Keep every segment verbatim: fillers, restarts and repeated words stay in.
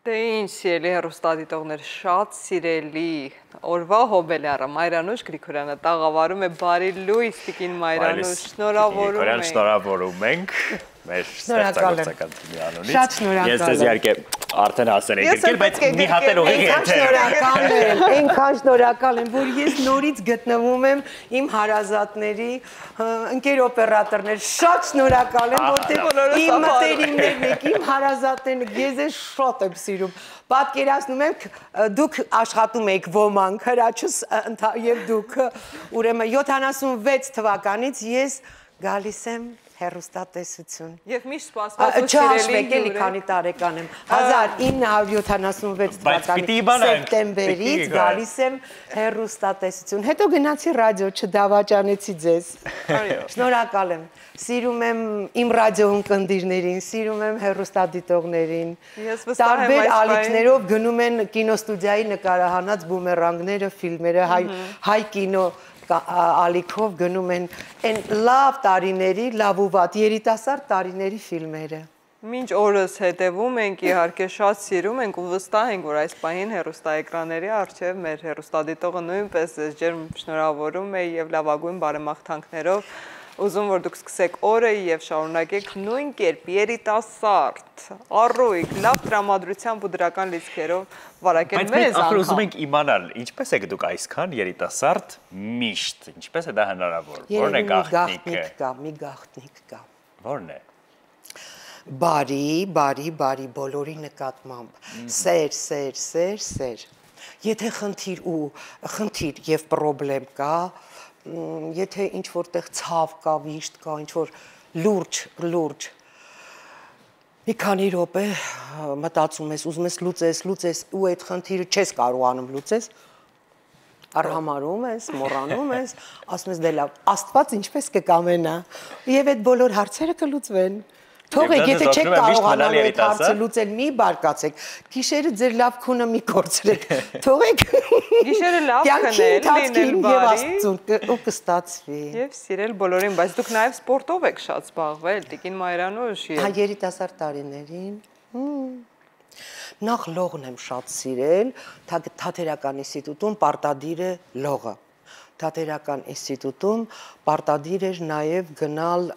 Դե ինչ սիրելի հեռուստադիտողներ, շատ սիրելի օրվա հոբելյարը Մայրանուշ Գրիգորյանը տաղավարում է բարի լույս տիկին Մայրանուշ, շնորհավորում ենք։ Շնորհավորում ենք մեր ստեղծագործական թիմի անունից։ Շատ շնորհակալ եմ։ Ես ձեզ իհարկե արդեն ասել եմ գրկել, բայց մի հատ էլ ուղիղ շնորհակալ եմ, այնքան շնորհակալ եմ, որ ես նորից գտնվում եմ իմ հարազատների ընկեր օպերատորներ, շատ շնորհակալ եմ, որտեղ իմ մտերիմներն եք, իմ հարազատներն եք, ես ես շատ եմ սիրում։ Պատկերացնում եք, դուք աշխատում եք ոմանք, հրաչս եւ դուք, ուրեմն յոթանասունվեց թվականից ես գալիս եմ հեռուստատեսություն։ Եվ միշտ սպասված ու չհաշվեք էլի քանի տարեկան եմ։ հազար ինը հարյուր յոթանասունվեց թվականի սեպտեմբերից գալիս եմ հեռուստատեսություն։ Հետո գնացի ռադիո, չդավաճանեցի ձեզ։ Շնորհակալ եմ։ Սիրում եմ իմ ռադիո ընկերներին, սիրում եմ հեռուստադիտողներին։ Տարբեր ալիքներով գնում են կինոստուդիայի նկարահանած բումերանգները, ֆիլմերը, հայ կինո ալիքով գնում են այն լավ տարիների, լավ ու վատ երիտասարդ տարիների ֆիլմերը։ Մինչ օրս հետևում ենք, իհարկե շատ սիրում ենք ու վստահ ենք, որ այս պահին հեռուստաէկրանների առջև մեր հեռուստադիտողը նույնպես ջերմ շնորհավորում է եւ լավագույն բարեմաղթանքներով ուզում որ դուք սկսեք օրը եւ շարունակեք նույն կերպ երիտասարդ, առույգ, լավ տրամադրությամբ ու դրական լիցքերով վարակել մեզ անգամ։ Բայց ուզում ենք իմանալ, ինչպես եք դուք այսքան երիտասարդ միշտ, ինչպես է դա հնարավոր։ Որն է գաղտնիքը։ Կա, մի գաղտնիք կա։ Որն է։ Բարի, բարի, բարի բոլորի նկատմամբ։ Սեր, սեր, սեր, սեր։ Եթե խնդիր ու խնդիր եւ պրոբլեմ կա, եթե ինչ-որտեղ ցավ կա, վիշտ կա, ինչ-որ լուրջ, լուրջ, մի քանի րոպե մտածում ես, ուզում ես լուծես, լուծես, ու այդ խնդիրը չես կարողանում լուծես, արհամարում ես, մոռանում ես, ասում ես դե լավ, Աստված ինչպես կկամենա, եւ այդ բոլոր հարցերը կլուծվեն։ Թողեք, եթե չեք կարողանալ այդ հարցը լուծել, մի բարկացեք, գիշերը ձեր լավ քունը մի կորցրեք, թողեք գիշերը լավ քնել, լինել բարի ու կստացվի։ Եվ սիրել բոլորին, բայց դուք նաև սպորտով եք շատ զբաղվել, տիկին Մայրանուշ։ Հա, երիտասարդ տարիներին։ Նախ լողն եմ շատ սիրել, Թատերական ինստիտուտում պարտադիր է լողը։ Թատերական ինստիտուտում պարտադիր էր նաև գնալ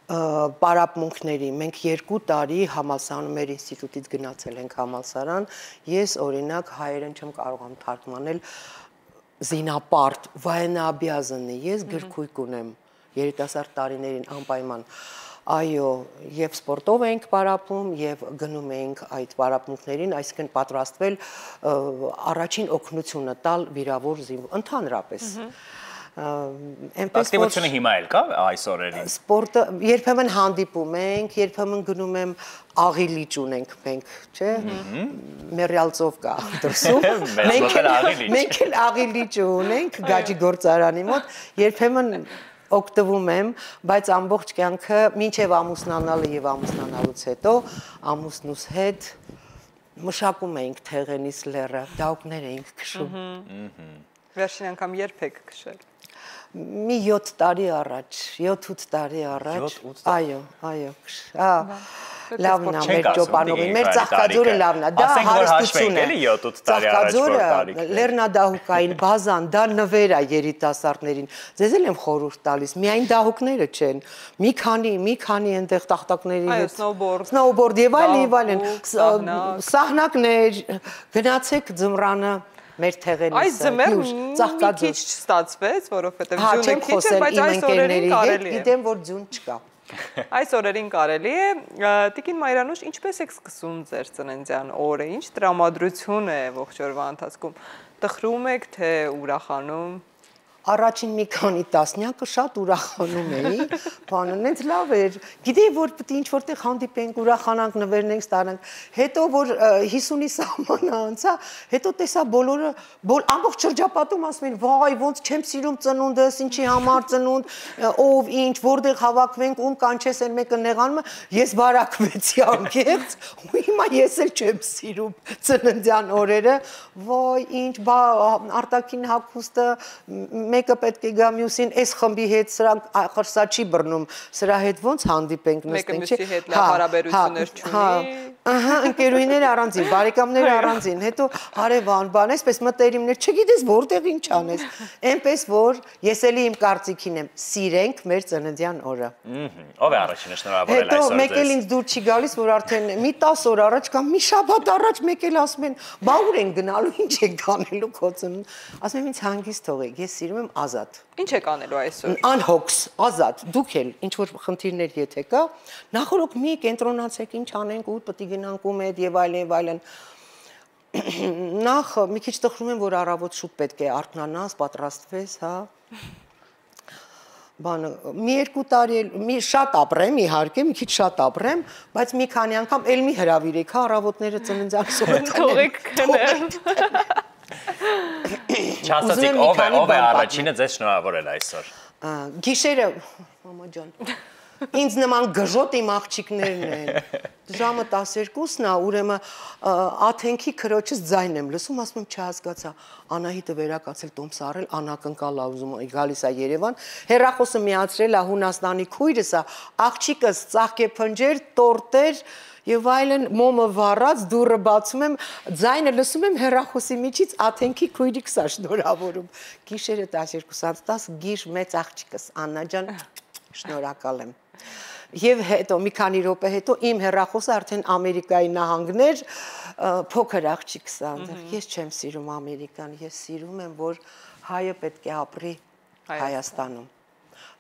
պարապմունքների, մենք երկու տարի համալսարանում մեր ինստիտուտից գնացել ենք համալսարան, ես օրինակ հայերեն չեմ կարողանում թարգմանել զինապարտ, վայենաբիազնի, ես գրքույկ ունեմ երիտասարդ տարիներին անպայման, այո, եւ սպորտով ենք պարապում եւ գնում ենք այդ պարապմունքներին, այսինքն պատրաստվել առաջին օգնությունը տալ վիրավոր զինվոր, ընդհանրապես Ակտիվությունը հիմա էլ կա այս օրերին։ Սպորտը երբեմն հանդիպում ենք, երբեմն գնում եմ աղիլիճ ունենք մենք, չէ՞։ Մերյալցով կա դրսում։ Մենք էլ աղիլիճ ունենք Գաջի գործարանի մոտ, երբեմն օգտվում եմ, բայց ամբողջ կյանքը մինչև ամուսնանալը եւ ամուսնանալուց հետո ամուսնուս հետ մշակում էինք Թեղենիս լեռը, դահուկներ էինք քշում։ Վերջին անգամ երբ եք քշել։ Մի յոթ տարի առաջ, յոթ-ութ տարի առաջ, այո, այո, հա, լավն է մեր ճոպանովին, մեր Ծաղկաձորը լավն է, դա հարստություն է, Ծաղկաձորը, լեռնադահուկային բազան, դա նվեր է երիտասարդներին, ձեզ էլ եմ խորհուրդ տալիս, միայն դահուկները չեն, մի քանի, մի քանի այնտեղ տախտակների հետ, սնոուբորդ եւ այլն եւ այլն, սահնակներ, գնացեք ձմռանը մեր Թեղենիսը, այս ձմեռ մի քիչ չստացվեց, որովհետև ձյունը քիչ է, բայց այս օրերին կարելի է։ Գիտեմ, որ ձյուն չկա։ Այս օրերին կարելի է, տիկին Մայրանուշ, ինչպես եք սկսում ձեր ծննդյան օրը, ինչ տրամադրություն է ողջ օրվա ընթացքում, տխրում եք, թե ուրախանում։ Առաջին մի քանի տասնյակը շատ ուրախանում էի, բանը նենց լավ էր, գիտեի, որ պետք է ինչ-որտեղ հանդիպենք, ուրախանանք, նվերնենք, ստանանք, հետո որ հիսունի սահմանը անցա, հետո տեսա բոլորը, ամբողջ շրջապատում ասում են, վայ, ոնց չեմ սիրում ծնունդս, ինչի համար ծնունդ, ով, ինչ, որտեղ հավաքվենք, ում կանչես են մեկը նեղանում, ես բարակվեցի անկեղծ, ու հիմա ես էլ չեմ սիրում ծննդյան օրերը, վայ, ինչ, արտաքին հագուստը մեկը պետք է գա մյուսին, այս խմբի հետ սրանք ախր սա չի բռնում, սրա հետ ոնց հանդիպենք նստենք, մեկը մյուսի հետ լավ հարաբերություններ չունի։ Ահա, ընկերուհիները առանձին, բարեկամները առանձին, հետո հարևան, բան, այսպես մտերիմներ, չգիտես որտեղ ինչ անես։ Էնպես որ ես էլի իմ կարծիքին եմ, սիրենք մեր ծննդյան օրը։ Ով է առաջինը շնորհավորել այսօր ձեզ։ Հետո մեկ էլ ինձ դուր չի գալիս, որ արդեն մի տասը օր առաջ կամ մի շաբաթ առաջ մեկ էլ ասում են, բա ուր են գնալու, ինչ եք անելու քո ծնունդ։ Ասում եմ ինձ հանգիստ թողեք, ես սիրում եմ ազատ։ Ինչ եք անելու այսօր։ Անհոգս, ազատ, դուք էլ ինչ որ խնդիրներ եթե կա, նախորդ մի կենտրոնացեք, ինչ անենք ու պետք է գնանք ու մեդ եւ այլն եւ այլն։ Նախ մի քիչ տխրում եմ, որ առավոտ շուտ պետք է արթնանաս, պատրաստվես, հա։ Բանը մի երկու տարի էլ մի շատ ապրեմ, իհարկե, մի քիչ շատ ապրեմ, բայց մի քանի անգամ էլ մի հրավիրեք, հա, առավոտները ծննդյան սովետներ։ Թողեք քնեմ։ Չասացիք ով է, ով է առաջինը ձեզ շնորհավորել այսօր։ Գիշերը, մամա ջան, ինձ նման գժոտ իմ աղջիկներն են։ Ժամը տասներկուսն է, ուրեմն աթենքի քրոջս ձայն եմ լսում, ասում եմ չհասկացա, Անահիտը վերակացել տոմս առել, անակնկալ ա ուզում գալիս է Երևան, հեռախոսը միացրել է Հունաստանի քույրս է, աղջիկս ծաղկեփնջեր, տորտեր եւ այլն մոմը վառած, դուռը բացում եմ, ձայնը լսում եմ հեռախոսի միջից աթենքի քույրիկս է շնորհավորում։ Գիշերը տասներկուսից տասը գիշ մեծ աղջիկս Աննա ջան, շնորհակալ եմ։ Եվ հետո մի քանի րոպե հետո իմ հեռախոսը արդեն Ամերիկայի նահանգներ, փոքր աղջիկս է այնտեղ։ Ես չեմ սիրում Ամերիկան, ես սիրում եմ, որ հայը պետք է ապրի Հայաստանում։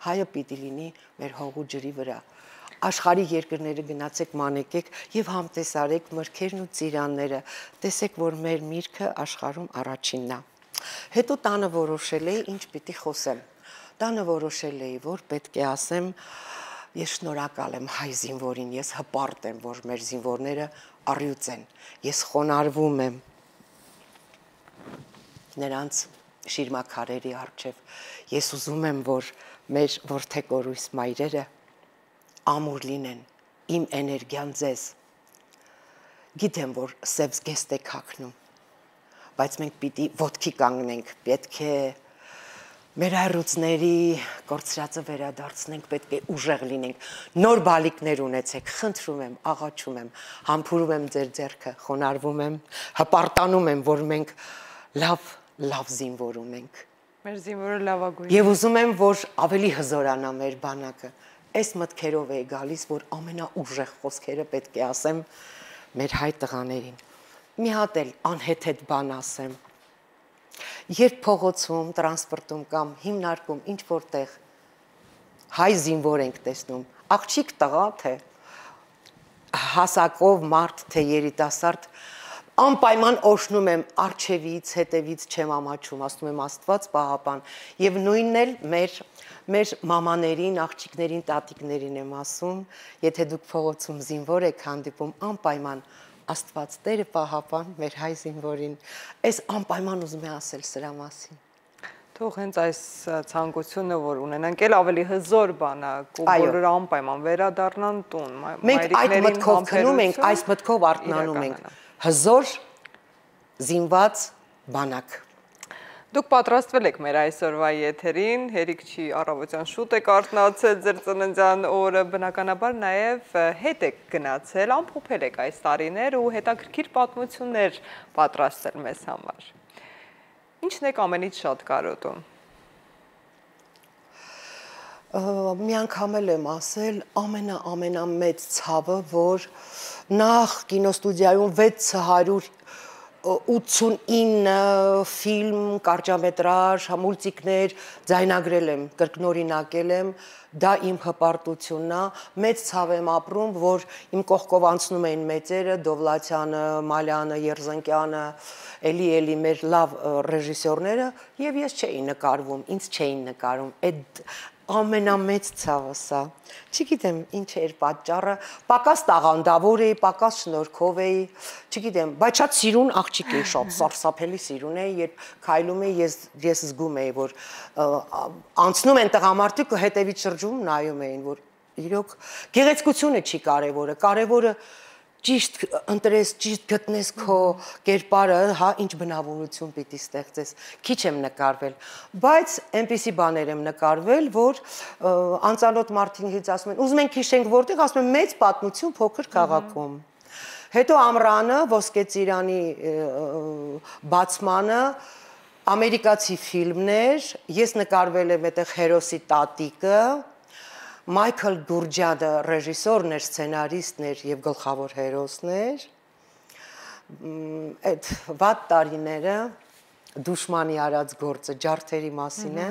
Հայը պիտի լինի մեր հողու ջրի վրա։ Աշխարհի երկրները գնացեք մանեկեք եւ համտեսարեք մրգերն ու ծիրանները։ Տեսեք, որ մեր միրգը աշխարհում առաջինն է։ Հետո տանը որոշել էի, ինչ պիտի խոսեմ։ Տանը որոշել էի, որ պետք է ասեմ, ես շնորհակալ եմ հայ զինվորին, ես հպարտ եմ, որ մեր զինվորները առյուծ են, ես խոնարհվում եմ նրանց շիրմաքարերի առջև, ես ուզում եմ, որ մեր որդեգորույս մայրերը ամուր լինեն, իմ էներգիան ձեզ, գիտեմ, որ սև զգեստ եք հագնում, բայց մենք պիտի ոտքի կանգնենք, պետք է մեր հայրուցների կորցրածը վերադարձնենք, պետք է ուժեղ լինենք, նոր բալիկներ ունեցեք, խնդրում եմ, աղաչում եմ, համբուրում եմ ձեր ձեռքը, խոնարհվում եմ, հպարտանում եմ, որ մենք լավ, լավ զինվոր ունենք։ Մեր զինվորը լավագույնն է։ Եվ ուզում եմ, որ ավելի հզորանա մեր բանակը։ Այս մտքերով է գալիս, որ ամենաուժեղ խոսքերը պետք է ասեմ մեր հայ տղաներին։ Մի հատ էլ անհեթեթ բան ասեմ։ Երբ փողոցում, տրանսպորտում կամ հիմնարկում ինչ որտեղ հայ զինվոր ենք տեսնում, աղջիկ տղա թե հասակով մարդ թե երիտասարդ, անպայման օշնում եմ արջևից, հետևից չեմ ամաչում, ասում եմ Աստված պահապան, եւ նույնն էլ մեր մեր մամաներին, աղջիկներին, տատիկներին եմ ասում, եթե դուք փողոցում զինվոր եք հանդիպում, անպայման Աստված Տերը պահապան մեր հայ զինվորին, այս անպայման ուզում եմ ասել սրա մասին։ Թող հենց այս ցանկությունը, որ ունենանք, էլ ավելի հզոր բան է, ու բոլորը անպայման վերադառնան տուն։ Մենք այդ մտքով քնում ենք, այս մտքով արթնանում ենք։ Հզոր զինված բանակ։ Դուք պատրաստվել եք մեր այսօրվա եթերին, հերիք չի առավոտյան շուտ եք արթնացել ձեր ծննդյան օրը, բնականաբար նաև հետ եք գնացել, ամփոփել եք այս տարիներ ու հետաքրքիր պատմություններ պատրաստել մեզ համար։ Ինչն եք ամենից շատ կարոտում։ Մի անգամ էլ եմ ասել, ամենա-ամենամեծ ցավը, որ նախ կինոստուդիայում վեց հարյուր ութսունինը ֆիլմ, կարճամետրաժ, մուլտիկներ ձայնագրել եմ, կրկնօրինակել եմ, դա իմ հպարտությունն է, մեծ ցավ եմ ապրում, որ իմ կողքով անցնում էին մեծերը, Դովլաթյանը, Մալյանը, Երզնկյանը, էլի էլի մեր լավ ռեժիսորները, եւ ես չէի նկարվում, ինձ չէին նկարում, այդ ամենամեծ ցավը սա։ Չգիտեմ ինչ էր պատճառը, պակաս տաղանդավոր էի, պակաս շնորհքով էի, չգիտեմ, բայց շատ սիրուն աղջիկ էի, շատ սարսափելի սիրուն էի, երբ քայլում էի, ես ես զգում էի, որ անցնում են տղամարդիկ ու հետևից շրջում նայում էին, որ իրոք գեղեցկությունը չի կարևորը, կարևորը ճիշտ ընտրես, ճիշտ գտնես քո կերպարը, հա, ինչ բնավորություն պիտի ստեղծես։ Քիչ եմ նկարվել, բայց այնպիսի բաներ եմ նկարվել, որ անծանոթ մարդիկից ասում են, ուզում ենք հիշենք որտեղ, ասում եմ մեծ պատմություն փոքր քաղաքում։ Հետո ամռանը ոսկե ծիրանի բացմանը ամերիկացի ֆիլմներ, ես նկարվել եմ այդտեղ հերոսի տատիկը, Մայքլ Գուրջյանը ռեժիսորն էր, սցենարիստն էր եւ գլխավոր հերոսն էր։ Այդ վատ տարիները դուշմանի արած գործը ջարդերի մասին է։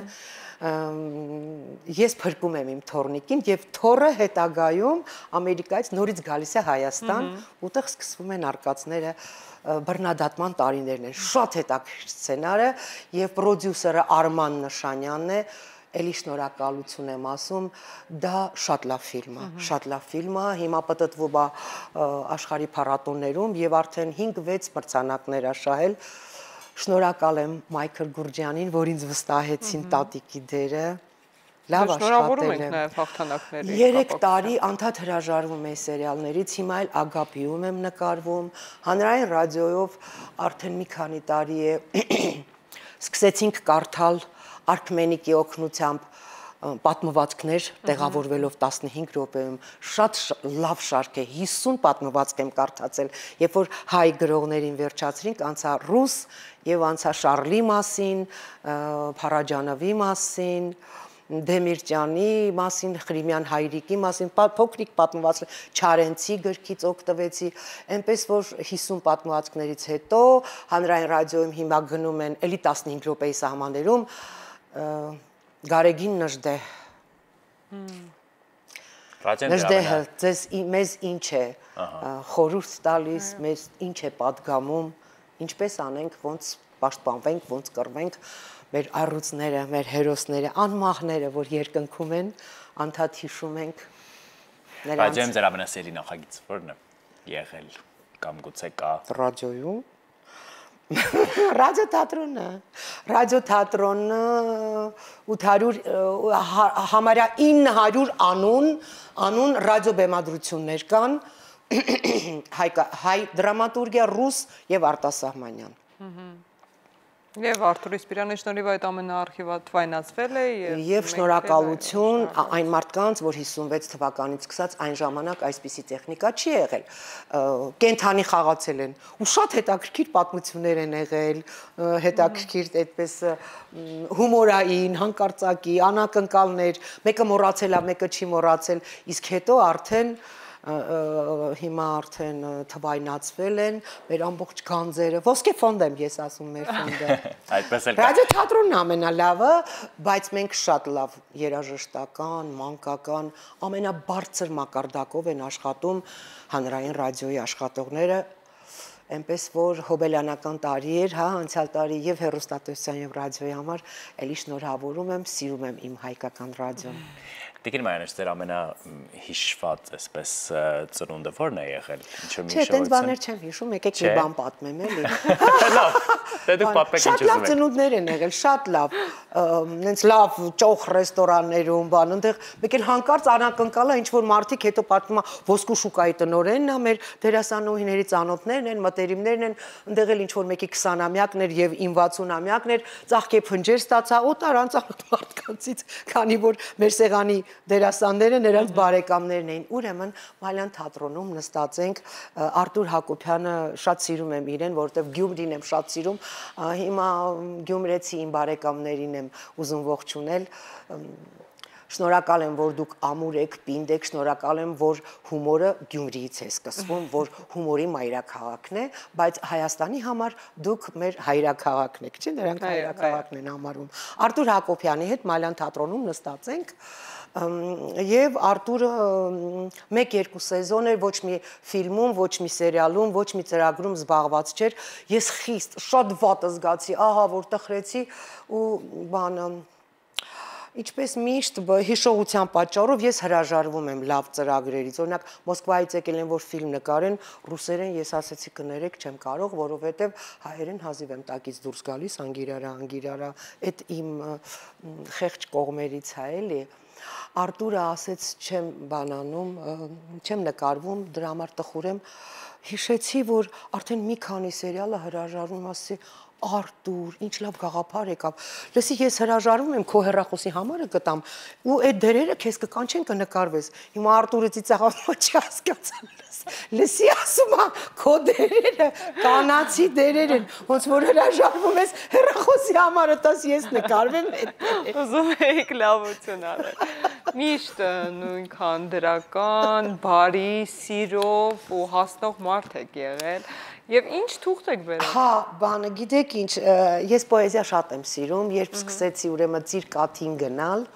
Ես փրկում եմ իմ թորնիկին եւ թորը հետագայում Ամերիկայից նորից գալիս է Հայաստան, ուտեղ սկսվում են արկածները բռնադատման տարիներն են։ Շատ հետաքրքիր սցենարը եւ պրոդյուսերը Արման Նշանյանն է, էլի շնորհակալություն եմ ասում, դա շատ լավ ֆիլմ է, շատ լավ ֆիլմ է, հիմա պատտվում է աշխարհի փառատոներում եւ արդեն հինգ-վեց մրցանակներ աշահել։ Շնորհակալ եմ Մայքլ Գուրջյանին, որ ինձ վստահեցին տատիկի դերը։ Լավ աշխատել եմ։ Նաև հաղթանակների։ Երեք տարի անդադ հրաժարվում եմ սերիալներից, հիմա էլ Ագապիում եմ նկարվում, հանրային ռադիոյով արդեն մի քանի տարի է սկսեցինք կարդալ Արքմենիկի օգնությամբ պատմվածքներ տեղավորվելով տասնհինգ րոպեում շատ լավ շարք է, հիսուն պատմվածք եմ կարդացել, երբ որ հայ գրողներին վերջացրինք, անցա ռուս եւ անցա Շարլի մասին, Փարաջանովի մասին, Դեմիրճյանի մասին, Խրիմյան Հայրիկի մասին, փոքրիկ պատմվածք, Չարենցի գրքից օգտվեցի, այնպես որ հիսուն պատմվածքներից հետո հանրային ռադիոյում հիմա գնում են էլի տասնհինգ րոպեի սահմաններում Գարեգին Նժդեհ։ Նժդեհը ձեզ մեզ ինչ է խորհուրդ տալիս, մեզ ինչ է պատգամում, ինչպես անենք, ոնց պաշտպանվենք, ոնց կռվենք, մեր առյուծները, մեր հերոսները, անմահները, որ երկնքում են, անդադ հիշում ենք նրանց։ Ռադիոյում ձեր ամենասիրելի նախագիծը ո՞րն է եղել կամ գուցե կա։ Ռադիոյում Ռադիոթատրոնը, ռադիոթատրոնը ութ հարյուր համարյա ինը հարյուր անուն, անուն ռադիոբեմադրություններ կան, հայ դրամատուրգիա, ռուս եւ արտասահմանյան։ Եվ Արթուր Իսպիրյանի շնորհիվ այդ ամենը արխիվացվել է եւ շնորհակալություն այն մարդկանց, որ հիսունվեց թվականից սկսած այն ժամանակ այսպիսի տեխնիկա չի եղել։ Կենթանի խաղացել են ու շատ հետաքրքիր պատմություններ են եղել, հետաքրքիր այդպես հումորային, հանկարծակի, անակնկալներ, մեկը մոռացել է, մեկը չի մոռացել, իսկ հետո արդեն հիմա արդեն թվայնացվել են մեր ամբողջ գանձերը, ոսկե ֆոնդ եմ ես ասում մեր ֆոնդը։ Այդպես էլ։ Ռադիոթատրոնն ամենալավը, բայց մենք շատ լավ երաժշտական, մանկական, ամենաբարձր մակարդակով են աշխատում հանրային ռադիոյի աշխատողները, այնպես որ հոբելյանական տարի էր, հա, անցյալ տարի եւ հեռուստատեսության եւ ռադիոյի համար էլի շնորհավորում եմ, սիրում եմ իմ հայկական ռադիոն։ Տիկին Մարիանեչ, ձեր ամենահիշված այսպես ծնունդը ո՞րն է եղել։ Չէ, տենց բաներ չեմ հիշում, եկեք մի բան պատմեմ էլի։ Լավ, դե դուք պատմեք ինչ ուզում եք։ Շատ լավ ծնունդներ են եղել, շատ լավ, նենց լավ ճոխ ռեստորաններում, բան, այնտեղ մեկ էլ հանկարծ անակնկալ է, ինչ որ մարդիկ հետո պատմում են ոսկու շուկայի տնօրենն է, մեր դերասանուհիների ծանոթներն են, մտերիմներն են, այնտեղ էլ ինչ որ մեկի քսանամյակն էր եւ իմ վաթսունամյակն էր, ծաղկե փնջեր ստացա, օտար անծանոթ մարդկանցից, քանի որ մեր սեղանի դերասանները նրանց բարեկամներն էին։ Ուրեմն Մալյան թատրոնում նստած ենք, Արտուր Հակոբյանը շատ սիրում եմ իրեն, որովհետև Գյումրին եմ շատ սիրում, հիմա գյումրեցի իմ բարեկամներին եմ ուզում ողջունել։ Շնորհակալ եմ, որ դուք ամուր եք, պինդ եք, շնորհակալ եմ, որ հումորը Գյումրիից է սկսվում, որ հումորի մայրաքաղաքն է, բայց Հայաստանի համար դուք մեր հայրաքաղաքն եք, չէ՞, նրանք հայրաքաղաքն են համարում։ Արտուր Հակոբյանի հետ Մալյան թատրոնում նստած ենք, եւ Արտուրը մեկ-երկու սեզոն էր, ոչ մի ֆիլմում, ոչ մի սերիալում, ոչ մի ծրագրում զբաղված չէր։ Ես խիստ շատ վատ զգացի, ահա որ տխրեցի ու բանը Ինչպես միշտ հիշողության պատճառով ես հրաժարվում եմ լավ ծրագրերից։ Օրինակ Մոսկվայից եկել են որ ֆիլմ նկարեն, ռուսերեն ես ասեցի կներեք, չեմ կարող, որովհետև հայերեն հազիվ եմ տակից դուրս գալիս, անգիրարա, անգիրարա, այդ իմ խեղճ կողմերից է էլի։ Արտուրը ասեց չեմ բանանում, չեմ նկարվում, դրա համար տխուր եմ։ Հիշեցի, որ արդեն մի քանի սերիալը հրաժարվում, ասի, Արտուր, ինչ լավ գաղափար եկավ։ Լսի, ես հրաժարվում եմ քո հեռախոսի համարը կտամ ու այդ դերերը քեզ կկանչեն կնկարվես։ Հիմա Արտուրը ծիծաղացնում չի հասկացել։ Լսի, ասում է, քո դերերը կանացի դերեր են, ոնց որ հրաժարվում ես հեռախոսի համարը տաս ես նկարվեմ այդ։ Ուզում եք լավություն արել։ Միշտ նույնքան դրական, բարի, սիրով ու հասնող մարդ եք եղել։ Եվ ինչ թուղթ եք բերել։ Հա, բանը, գիտեք ինչ, ես պոեզիա շատ եմ սիրում, երբ սկսեցի ուրեմն Ծիրկաթին գնալ,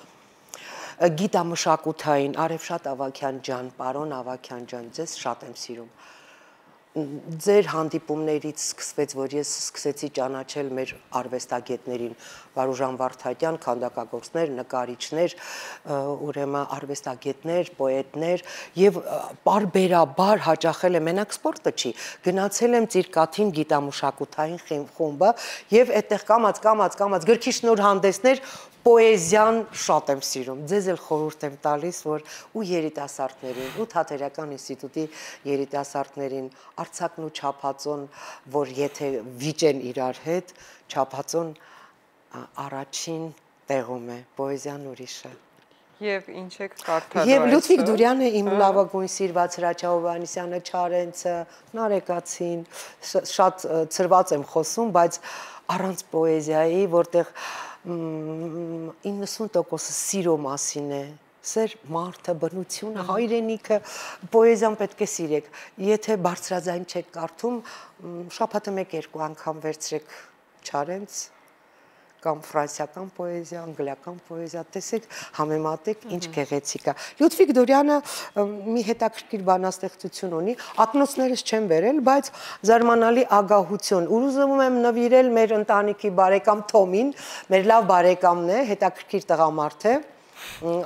գիտամշակութային Արևշատ Ավագյան ջան, պարոն Ավագյան ջան, ձեզ շատ եմ սիրում։ Ձեր հանդիպումներից սկսվեց, որ ես սկսեցի ճանաչել մեր արվեստագետներին, Վարուժան Վարդատյան, քանդակագործներ, նկարիչներ, ուրեմն արվեստագետներ, պոետներ եւ բարբերաբար հաճախել եմ, մենակ սպորտը չի, գնացել եմ Ծիրկաթին գիտամշակութային խումբը եւ այդտեղ կամած, կամած, կամած գրքի շնորհանդեսներ պոեզիան շատ եմ սիրում, ձեզ էլ խորհուրդ եմ տալիս, որ ու երիտասարդներին, ու Թատերական ինստիտուտի երիտասարդներին, արձակն ու չափածոն, որ եթե վիճեն իրար հետ, չափածոն առաջին տեղում է, պոեզիան ուրիշ է։ Եվ ինչ եք կարդալու Եվ Լյուդվիգ Դուրյանը, իմ լավագույն սիրված Հրաչյա Հովհաննիսյանը, Չարենցը, Նարեկացին, շատ ծրված եմ խոսում, բայց առանց պոեզիայի, որտեղ իննսուն տոկոսը սիրո մասին է, սեր մարդը, բնությունը, հայրենիքը, պոեզիան պետք է սիրեք, եթե բարձրաձայն չեք կարդում, շաբաթը մեկ երկու անգամ վերցրեք Չարենց, կամ ֆրանսիական պոեզիա, անգլիական պոեզիա, տեսեք, համեմատեք, ինչ գեղեցիկ է։ Լյուդվիգ Դուրյանը մի հետաքրքիր բանաստեղծություն ունի, ակնոցներս չեմ վերել, բայց զարմանալի ագահություն։ Ուզում եմ նվիրել մեր ընտանիքի բարեկամ Թոմին, մեր լավ բարեկամն է, հետաքրքիր տղամարդ է,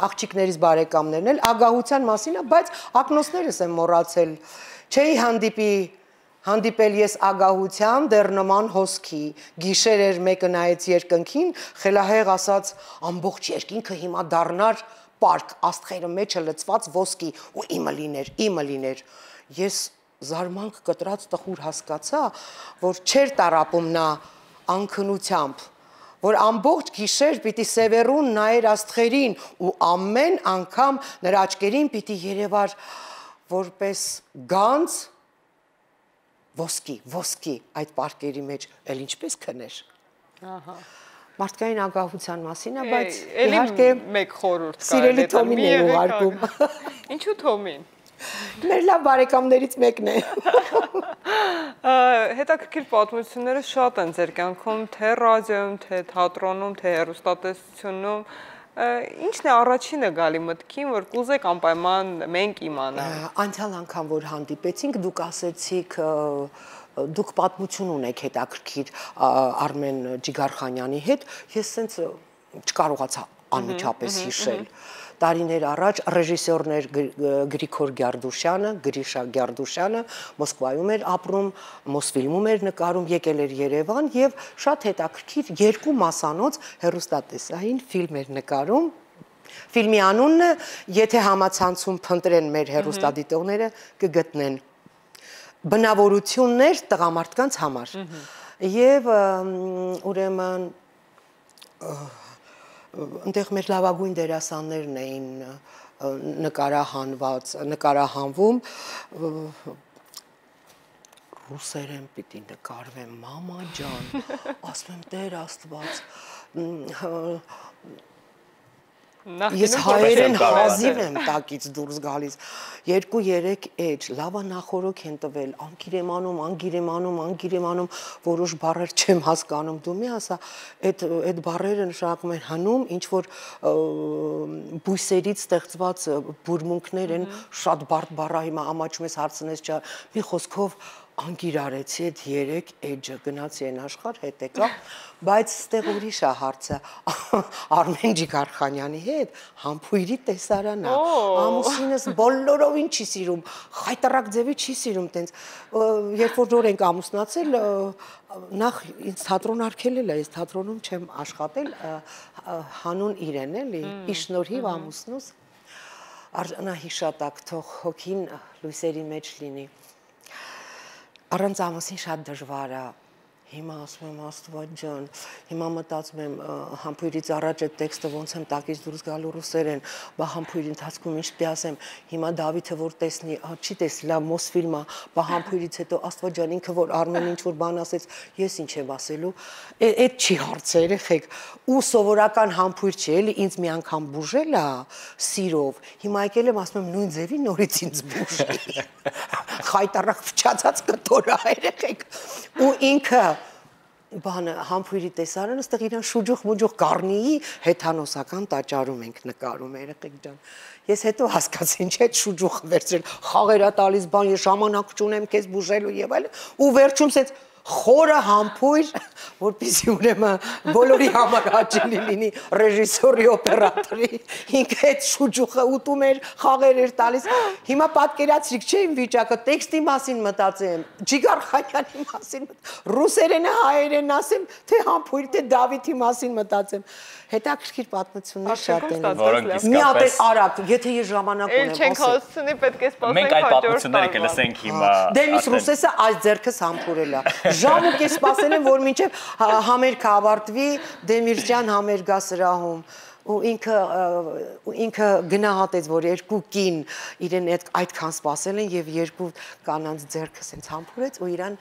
աղջիկներից բարեկամներն էլ, ագահության մասին է, բայց ակնոցներս եմ մոռացել։ Չէի հանդիպի Հանդիպել ես ագահության դեռ նման հոսքի, գիշեր էր մեկը նայեց երկնքին, խելահեղ ասաց ամբողջ երկինքը հիմա դառնար պարկ, աստղերը մեջը լցված ոսկի ու իմը լիներ, իմը լիներ։ Ես զարմանք կտրած տխուր հասկացա, որ չէր տարապում նա անքնությամբ, որ ամբողջ գիշեր պիտի սևեռուն նայեր աստղերին ու ամեն անգամ նրա աչքերին պիտի երևար որպես գանձ ոսկի, ոսկի այդ պարկերի մեջ էլ ինչպես քներ։ Ահա։ Մարդկային ագահության մասին է, բայց իհարկե մեկ խորհուրդ կա։ Սիրելի Թոմին է ուղարկում։ Ինչու Թոմին։ Մեր լավ բարեկամներից մեկն է։ Հետաքրքիր պատմությունները շատ են ձեր կյանքում, թե ռադիոյում, թե թատրոնում, թե հեռուստատեսությունում։ Ինչն է առաջինը գալի մտքին, որ կուզեք անպայման մենք իմանալ։ Անցյալ անգամ որ հանդիպեցինք, դուք ասեցիք դուք պատմություն ունեք հետաքրքիր Արմեն Ջիգարխանյանի հետ, ես սենց չկարողացա անմիջապես հիշել։ Տարիներ առաջ ռեժիսորներ Գրիգոր Գյարդուշյանը, Գրիշա Գյարդուշյանը Մոսկվայում էր ապրում, Մոսֆիլմում էր նկարում, եկել էր Երևան եւ շատ հետաքրքիր երկու մասանոց հեռուստատեսային ֆիլմ էր նկարում։ Ֆիլմի անունը, եթե համացանցում փնտրեն մեր հեռուստադիտողները, կգտնեն բնավորություններ տղամարդկանց համար։ Եվ ուրեմն Այնտեղ մեր լավագույն դերասաններն էին նկարահանված, նկարահանվում ռուսերեն պիտի նկարվեմ, մամա ջան, ասում եմ Տեր Աստված, ես հայերեն հազիվ եմ տակից դուրս գալիս, երկու երեք էջ, լավա նախորոք են տվել, անգիր եմ անում, անգիր եմ անում, անգիր եմ անում, որոշ բառեր չեմ հասկանում, դու մի ասա, այդ բառերը նշանակում են հնում, ինչ որ բույսերից ստեղծված բուրմունքներ են, շատ բարդ բառա հիմա ամաչում ես հարցնես չա, մի խոսքով անգիր արեցի այդ երեք էջը, գնացի են աշխարհ հետ եկա, բայց ստեղ ուրիշ է հարցը, Արմեն Ջիգարխանյանի հետ համբույրի տեսարան է, ամուսինս բոլորովին չի սիրում, խայտարակ ձևի չի սիրում տենց, երբ որ նոր ենք ամուսնացել, նախ ինձ թատրոն արգելել է, ես թատրոնում չեմ աշխատել, հանուն իրեն էլի, իշնորհիվ ամուսնուս, արժանահիշատակ թող հոգին լույսերի մեջ լինի։ Առանց ամուսին շատ դժվար է, Հիմա ասում եմ Աստված ջան, հիմա մտածում եմ համբույրից առաջ այդ տեքստը ոնց եմ տակից դուրս գալու ռուսերեն, բա համբույրի ընթացքում ինչ պիտի ասեմ, հիմա Դավիթը որ տեսնի, չի տեսի, լավ Մոսֆիլմա, բա համբույրից հետո Աստված ջան ինքը որ Արմեն ինչ որ բան ասեց, ես ինչ եմ ասելու, այդ չի հարցը երեխեք, ու սովորական համբույր չի, էլի ինձ մի անգամ բուժել է սիրով, հիմա եկել եմ ասում եմ նույն ձևի նորից ինձ բուժի, խայտարակ փչացած կտորա երեխեք, ու ինքը բանը համբույրի տեսարանը այստեղ իրան շուջուխ-մուջուխ գառնիի հեթանոսական տաճարում ենք նկարում երեխեք ջան։ Ես հետո հասկացի ինչ այդ շուջուխը վերցրել, խաղերա տալիս բան, ես ժամանակ չունեմ քեզ բուժելու եւ այլն, ու վերջում ասեց խորը համբույր, որպեսզի ուրեմն բոլորի համար հաճելի լինի ռեժիսորի, օպերատորի, ինքը այդ շուջուխը ուտում էր, խաղեր էր տալիս։ Հիմա պատկերացրիք, չէ՞ իմ վիճակը, տեքստի մասին մտածեմ, Ջիգար Խանյանի մասին, ռուսերենը, հայերենն ասեմ, թե համբույր, թե Դավիթի մասին մտածեմ։ Հետաքրքիր պատմություններ շատ են։ Որոնք Մի հատ իսկապես արագ, եթե ես ժամանակ ունեմ, Էլ չենք հասցնի, պետք է սպասենք մենք այդ պատմությունները կլսենք հիմա։ Դե միս ռուսեսը այս ձեռքս համբուրել է։ Ժամ ու կես սպասել եմ, որ մինչև համերգը ավարտվի Դեմիրճյան համերգա սրահում։ Ու ինքը ինքը գնահատեց, որ երկու կին իրեն այդքան սպասել են եւ երկու կանանց ձեռքը սենց համբուրեց ու իրան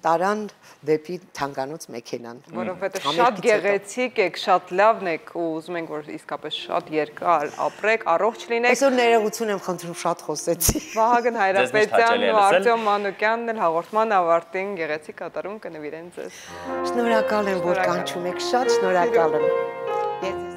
տարան դեպի թանգանոց մեքենան։ Որովհետեւ շատ գեղեցիկ եք, շատ լավն եք ու ուզում ենք որ իսկապես շատ երկար ապրեք, առողջ լինեք։ Այսօր ներողություն եմ խնդրում, շատ խոսեցի։ Վահագն Հայրապետյանն ու Արտյոմ Մանուկյանն էլ հաղորդման ավարտին գեղեցիկ կատարում կնվիրեն ձեզ։ Շնորհակալ եմ, որ կանչում եք, շատ շնորհակալ եմ։